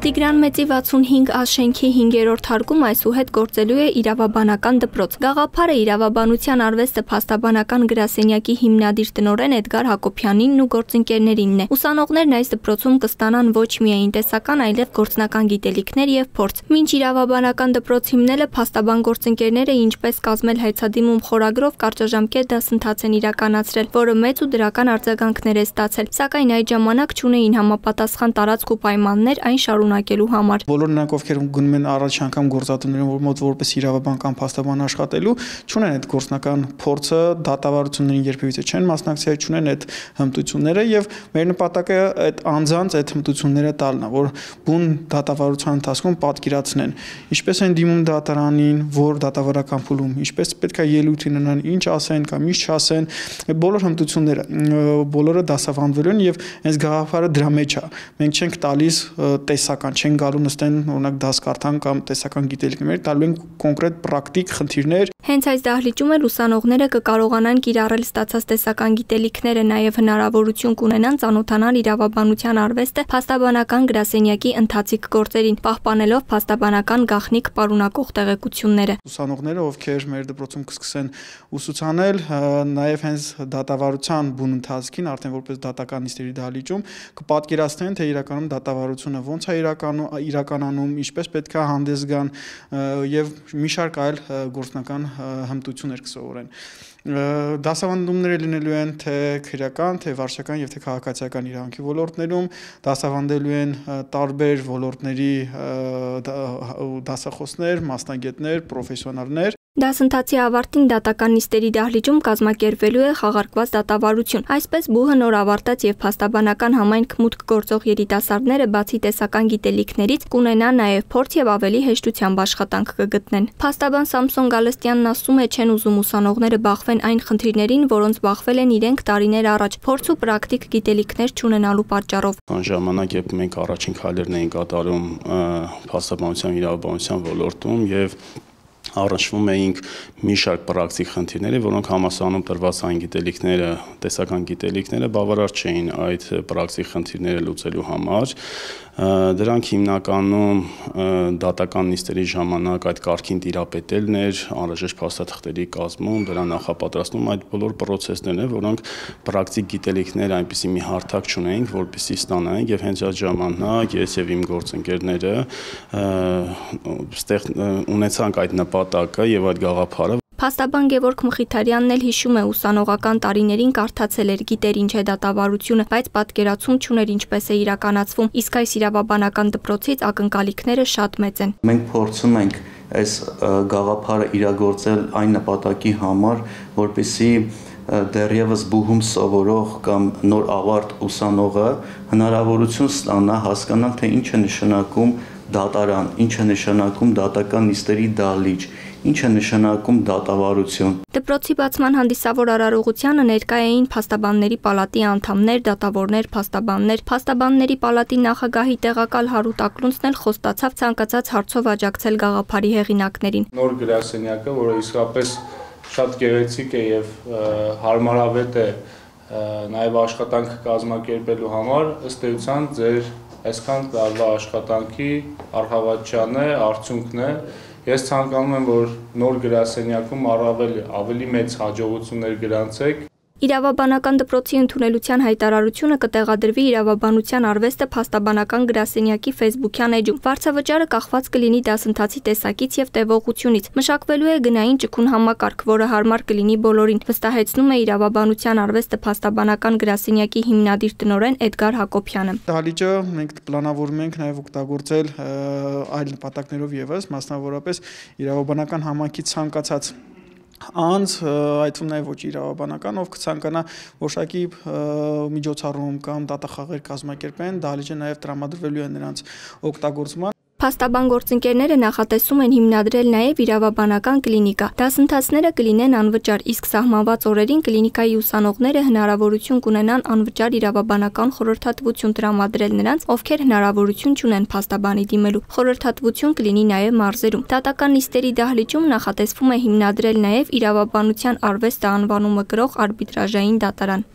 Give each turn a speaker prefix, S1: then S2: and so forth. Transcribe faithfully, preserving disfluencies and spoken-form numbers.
S1: Տիգրան Մեծի վաթսունհինգ ա շենքի հինգերորդ հարկում այսուհետ գործելու է իրավաբանական դպրոց։ Գաղափարը իրավաբանության արվեստը փաստաբանական գրասենյակի հիմնադիր տնօրեն Էդգար Հակոբյանինն ու գործընկերներինն է։ Ուսանողներն այս դպրոցում կստանան ոչ միայն տեսական, այլև գործնական գիտելիքներ եւ փորձ։ Մինչ իրավաբանական դպրոց հիմնելը փաստաբան գործընկերները ինչպես կազմել հայցադիմում խորագրով կարճաժամկետ դասընթաց են իրականացրել, որը մեծ ու դրական արձագանքներ է ստացել, սակայն այդ ժամանակ չունեին համապատասխան տարածք ու պայմաններ այն շարունակելու համար։
S2: Բոլոր նրանք, ովքեր գնում են առաջ անգամ գործատուներին մոտ որպես իրավաբան կամ փաստաբան աշխատելու, չունեն այդ գործնական փորձը, դատավարություններին երբևիցե չեն մասնակցել, չունեն այդ հմտությունները եւ մեր նպատակը այդ անձանց այդ հմտությունները տալն է, որ բուն դատավարության ընթացքում պատկերացնեն, ինչպես են դիմում դատարանին, որ դատավարական փուլում, ինչպես պետք է ելույթ ունենան, ինչ ասեն կամ ինչ չասեն, բոլոր հմտությունները, բոլորը դասավանդվելու են եւ այս գաղափարը դրա մեջ է։ Մենք չենք տալիս տեսական, չեն գալու նստեն օրինակ դաս կարդան կամ տեսական գիտելիքներ, տալու են կոնկրետ պրակտիկ խնդիրներ։
S1: Հենց այս դահլիճում էլ ուսանողները կկարողանան կիրառել ստացած տեսական գիտելիքները, նաև հնարավորություն կունենան ծանոթանալ իրավաբանության արվեստը փաստաբանական գրասենյակի ընթացիկ գործերին, պահպանելով փաստաբանական գաղտնիք պարունակող տեղեկությունները։
S2: Ուսանողները, ովքեր մեր դպրոցում կսկսեն ուսուցանել, նաև հենց դատավարության բուն ընթացքին, արդեն որպես դատական նիստերի դահլիճում կպատկերացնեն, թե իրականում դատավարությունը ոնց է իրականանում, ինչպես պետք է հանդես գան եւ մի շարք այլ գործնական հմտություններ կսովորեն։ Դասավանդումները լինելու են թե քրեական, թե վարչական եւ թե քաղաքացիական իրավունքի ոլորտներում, դասավանդելու են տարբեր ոլորտների դասախոսներ, մասնագետներ, պրոֆեսիոնալներ։
S1: Դասընթացի ավարտին դատական նիստերի դահլիճում կազմակերպվելու է խաղարկված դատավարություն։ Այսպես բուհը նոր ավարտած եւ փաստաբանական համայնք մուտք գործող երիտասարդները բացի տեսական գիտելիքներից կունենան նաեւ փորձ եւ ավելի հեշտությամբ աշխատանք կգտնեն։ Փաստաբան Սամսոն Գալստյանն ասում է, չեն ուզում ուսանողները բախվեն այն խնդիրներին, որոնց բախվել են իրենք տարիներ առաջ, փորձ ու պրակտիկ գիտելիքներ չունենալու պատճառով։
S3: Այն ժամանակ, երբ մենք առաջին քայլերն էինք կատարում փաստաբանության իրավաբանության ոլորտում եւ առնչվում էինք մի շարք պրակտիկ խնդիրների, որոնք համալսարանում տրված այն գիտելիքները, տեսական գիտելիքները բավարար չէին այդ պրակտիկ խնդիրները լուծելու համար։ Դրանք հիմնականում դատական նիստերի ժամանակ այդ կարգին տիրապետելն էր, անհրաժեշտ փաստաթղթերի կազմում, դրա նախապատրաստում, այդ բոլոր պրոցեսներն են, որոնք պրակտիկ գիտելիքներ այնպիսի մի հարթակ չունեինք, որպեսզի ստանայինք, եւ հենց այդ ժամանակ ես եւ իմ գործընկերները ստեղ ունեցանք այդ նպատակը եւ այդ գաղափարը։
S1: Փաստաբան Գևորգ Մխիթարյանն էլ հիշում է ուսանողական տարիներին կարդացել էր, գիտեր ինչ է դատավարությունը, բայց պատկերացում չուներ ինչպես է իրականացվում, իսկ այս իրավաբանական դպրոցից ակնկալիքները շատ մեծ են։
S4: Մենք փորձում ենք այս գաղափարը իրագործել այն նպատակի համար, որպեսզի դեռևս բուհում սովորող կամ նոր ավարտ ուսանողը հնարավորություն ստանա հասկանալ, թե ինչ է նշանակում դատարան, ինչ է նշանակում դատական նիստերի դահլիճ, ինչ է նշանակում դատավարություն։
S1: Դպրոցի բացման հանդիսավոր արարողությանը ներկա էին փաստաբանների պալատի անդամներ, դատավորներ, փաստաբաններ, փաստաբանների պալատի նախագահի տեղակալ Հարութ Ակլունցն էլ խոստացավ ցանկացած հարցով աջակցել գաղափարի հեղինակներին։
S5: Նոր գրասենյակը, որը իսկապես շատ գեղեցիկ է եւ հարմարավետ է նաեւ աշխատանքը կազմակերպելու համար, ըստ էության ձեր այսքան տարվա աշխատանքի առհավատչան է, արդյունքն է։ Ես ցանկանում եմ, որ նոր գրասենյակում առավել ավելի մեծ հաջողություններ գրանցեք։
S1: Իրավաբանական դպրոցի ընդունելության հայտարարությունը կտեղադրվի իրավաբանության արվեստը փաստաբանական գրասենյակի Facebook-յան էջում։ Վարձավճարը կախված կլինի դասընթացի տեսակից եւ տևողությունից։ Մշակվելու է գնային ճկուն համակարգ, որը հարմար կլինի բոլորին, վստահեցնում է իրավաբանության արվեստը փաստաբանական գրասենյակի հիմնադիր տնօրեն Էդգար Հակոբյանը։
S2: Դահլիճը մենք պլանավորում ենք նաեւ օգտագործել այլ նպատակներով եւս, մասնավորապես իրավաբանական համայնքի ցանկացած անձ, այդ թվում նաև ոչ իրավաբանական, ով կցանկանա որոշակի միջոցառում կամ դատախաղեր կազմակերպեն, դահլիճը նաև տրամադրվելու է նրանց օգտագործման։
S1: Փաստաբան գործընկերները նախատեսում են հիմնադրել նաև իրավաբանական կլինիկա։ Դասընթացները կլինեն անվճար, իսկ սահմանված օրերին կլինիկայի ուսանողները հնարավորություն կունենան անվճար իրավաբանական խորհրդատվություն տրամադրել նրանց, ովքեր հնարավորություն չունեն փաստաբանի դիմելու։ Խորհրդատվություն կլինի նաև մարզերում։ Դատական նիստերի դահլիճում նախատեսվում է հիմնադրել նաև իրավաբանության արվեստը անվանումը կրող արբիտրաժային դատարան։